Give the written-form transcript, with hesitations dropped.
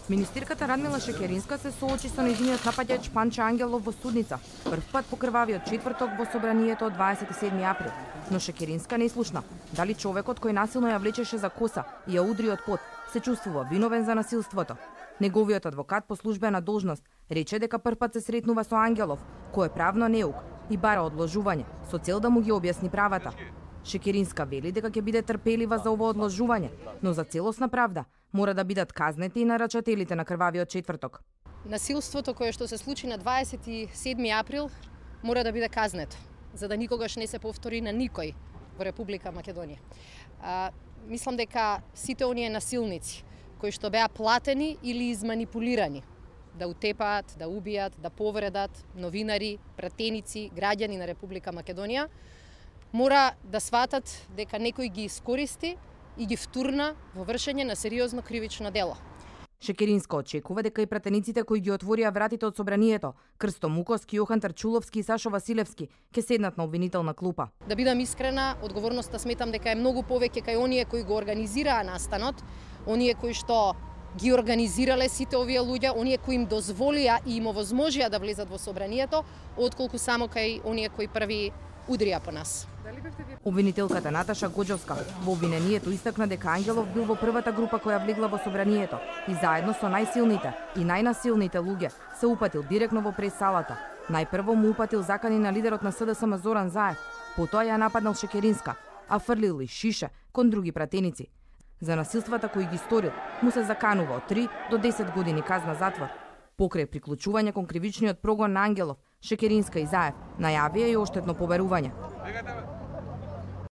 Министерката Радмила Шекеринска се соочи со нејзиниот напаѓач Панче Ангелов во судница, прв пат по крвавиот четврток во собранието од 27 април. Но Шекеринска не слушна. Дали човекот кој насилно ја влечеше за коса и ја удри од под се чувствува виновен за насилството. Неговиот адвокат по службена должност рече дека прв пат се сретнува со Ангелов, кој е правно неук и бара одложување со цел да му ги објасни правата. Шекеринска вели дека ќе биде трпелива за ово одложување, но за целосна правда мора да бидат казнети и нарачателите на крвавиот четврток. Насилството кое што се случи на 27 април мора да биде казнето, за да никогаш не се повтори на никој во Република Македонија. Мислам дека сите оние насилници кои што беа платени или изманипулирани да утепаат, да убијат, да повредат новинари, пратеници, граѓани на Република Македонија, мора да сватат дека некој ги искористи и ги втурна во вршење на сериозно кривично дело. Шекеринска очекува дека и пратениците кои ги отворија вратите од собранието, Крсто Муковски, Јохан Трчуловски и Сашо Василевски, ќе седнат на обвинителна клупа. Да бидам искрена, одговорноста сметам дека е многу повеќе кај оние кои го организираа настанот, оние кои што ги организирале сите овие луѓе, оние кои им дозволија и им овозможија да влезат во собранието, отколку само кај оние кои први удрија по нас. Обвинителката Наташа Гоџовска во обвинението истакна дека Ангелов бил во првата група која влегла во собранието и заедно со најсилните и најнасилните луѓе се упатил директно во прес-салата. Најпрво му упатил закани на лидерот на СДСМ Зоран Заев, потоа ја нападнал Шекеринска, а фрлил и шише кон други пратеници. За насилствата кои ги сторил, му се заканува од 3 до 10 години казна затвор. Покрај приклучување кон кривичниот прогон на Ангелов, Шекеринска и Заев најавија и оштетно побарување.